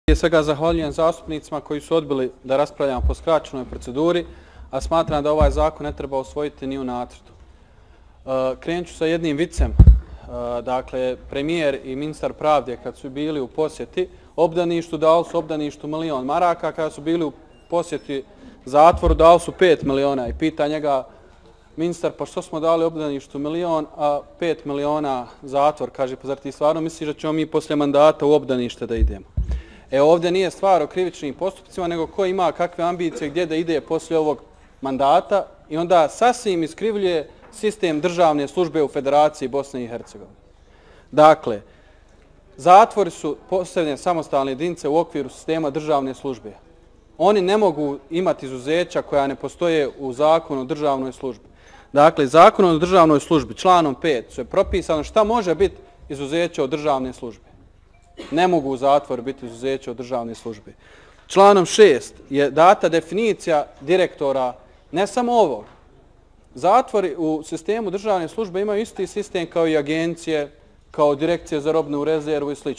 Prije svega zahvaljujem zastupnicima koji su odbili da raspravljamo po skraćenoj proceduri, a smatram da ovaj zakon ne treba usvojiti ni u nacrtu. Krenut ću sa jednim vicem. Dakle, premijer i ministar pravde kad su bili u posjeti obdaništu, dali su obdaništu 1 milion maraka, kada su bili u posjeti zatvoru dali su 5 miliona i pita njega ministar, pa što smo dali obdaništu 1 milion, a 5 miliona zatvor, kaže, pa zar ti stvarno misliš da ćemo mi poslije mandata u obdanište da idemo? Ovdje nije stvar o krivičnim postupcima, nego ko ima kakve ambicije gdje da ide poslije ovog mandata i onda sasvim iskrivljuje sistem državne službe u Federaciji Bosne i Hercegovine. Dakle, zatvori su postavljene samostalne jedinice u okviru sistema državne službe. Oni ne mogu imati izuzeća koja ne postoje u zakonu o državnoj službi. Dakle, zakonom o državnoj službi, članom 5, su je propisano šta može biti izuzeće od državne službe. Ne mogu u zatvoru biti izuzeće od državne službe. Članom 6 je data definicija direktora, ne samo ovog. Zatvori u sistemu državne službe imaju isti sistem kao i agencije, kao direkcije za robnu rezervu i sl.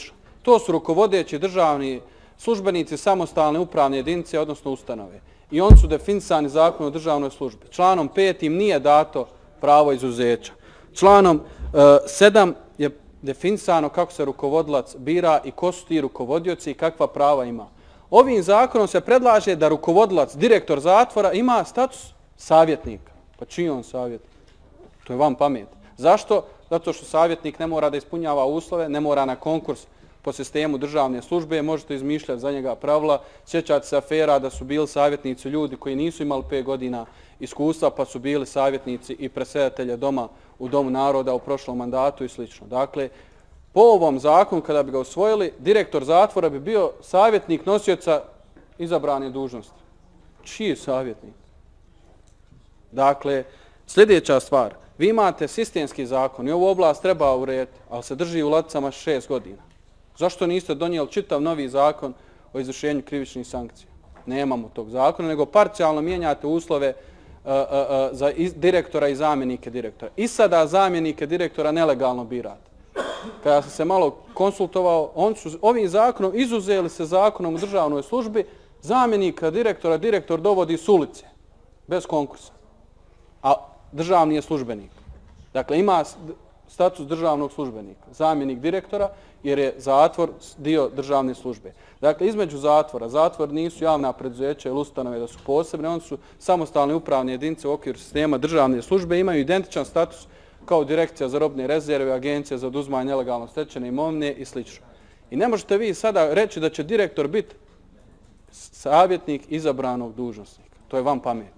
To su rukovodeći državni službenici samostalne upravne jedinice, odnosno ustanove. I oni su definisani zakonom o državnoj službi. Članom 5 im nije dato pravo izuzeća. Članom 7 je definisano kako se rukovodilac bira i ko su ti rukovodioci i kakva prava ima. Ovim zakonom se predlaže da rukovodilac, direktor zatvora, ima status savjetnika. Pa čiji on savjetnik? To je vam pamet. Zašto? Zato što savjetnik ne mora da ispunjava uslove, ne mora na konkurs po sistemu državne službe, možete izmišljati za njega pravila. Sjećate se afera da su bili savjetnici ljudi koji nisu imali 5 godina iskustva, pa su bili savjetnici i predsjedatelja doma u Domu naroda u prošlom mandatu i sl. Dakle, po ovom zakonu, kada bi ga usvojili, direktor zatvora bi bio savjetnik nosioca izabrane dužnosti. Čiji je savjetnik? Dakle, sljedeća stvar. Vi imate sistemski zakon i ovu oblast treba urediti, ali se drži u ladicama 6 godina. Zašto niste donijeli čitav novi zakon o izvršenju krivičnih sankcija? Nemamo tog zakona, nego parcijalno mijenjate uslove za direktora i zamjenike direktora. I sada zamjenike direktora nelegalno birate. Kada sam se malo konsultovao, ovim zakonom izuzeli se zakonom o državnoj službi, zamjenika direktora direktor dovodi s ulice, bez konkursa. A državni je službenik. Dakle, ima status državnog službenika, zamjenik direktora, jer je zatvor dio državne službe. Dakle, između zatvora, zatvor nisu javna preduzeća ili ustanove da su posebne, oni su samostalne upravne jedinice u okviru sistema državne službe, imaju identičan status kao direkcija za robne rezerve, agencija za oduzimanje nelegalno stečene imovine i sl. I ne možete vi sada reći da će direktor biti savjetnik izabranog dužnosnika. To je vam pamet.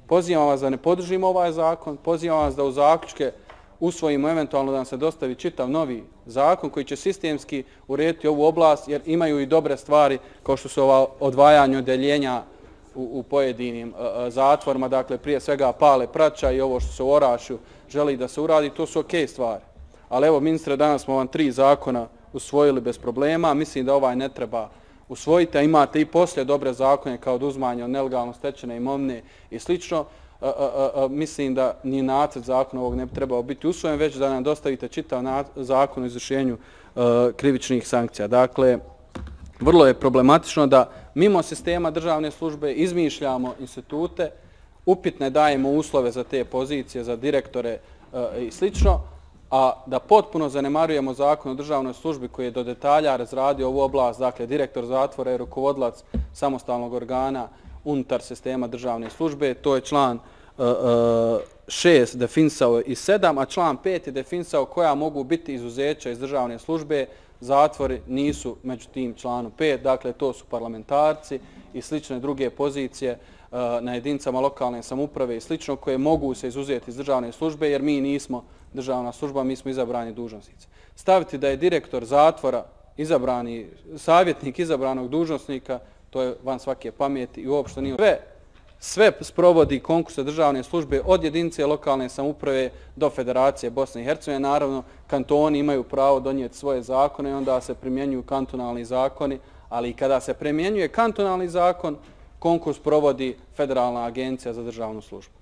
Pozivam vas da ne podržimo ovaj zakon, pozivam vas da u zaključke usvojimo eventualno da nam se dostavi čitav novi zakon koji će sistemski urediti ovu oblast, jer imaju i dobre stvari kao što su ova odvajanje odeljenja u pojedinim zatvorima, dakle prije svega pale praća i ovo što se u Orašju želi da se uradi, to su okej stvari. Ali evo, ministre, danas smo vam 3 zakona usvojili bez problema, mislim da ovaj ne treba usvojiti, a imate i poslije dobre zakone kao oduzimanje od nelegalno stečene imovine i slično. Mislim da ni nacrt zakona ovog ne bi trebao biti usvojen, već da nam dostavite čitav zakon o izvršenju krivičnih sankcija. Dakle, vrlo je problematično da mimo sistema državne službe izmišljamo institute, upitne dajemo uslove za te pozicije, za direktore i slično, a da potpuno zanemarujemo zakon o državnoj službi koji je do detalja razradio ovu oblast, dakle direktor zatvora je rukovodilac samostalnog organa unutar sistema državne službe, to je član 6 definisao i 7, a član 5 je definisao koja mogu biti izuzeća iz državne službe. Zatvori nisu među tim članom 5, dakle to su parlamentarci i slične druge pozicije na jedinicama lokalne samouprave i slično koje mogu se izuzeti iz državne službe jer mi nismo državna služba, mi smo izabrani dužnosnici. Staviti da je direktor zatvora izabrani, savjetnik izabranog dužnosnika, to je van svake pameti i uopšte nije. Sve sprovodi konkurse državne službe od jedinice lokalne samouprave do Federacije Bosne i Hercegovine. Naravno, kantoni imaju pravo donijeti svoje zakone i onda se primjenjuju kantonalni zakoni, ali i kada se primjenjuje kantonalni zakon, konkurs provodi Federalna agencija za državnu službu.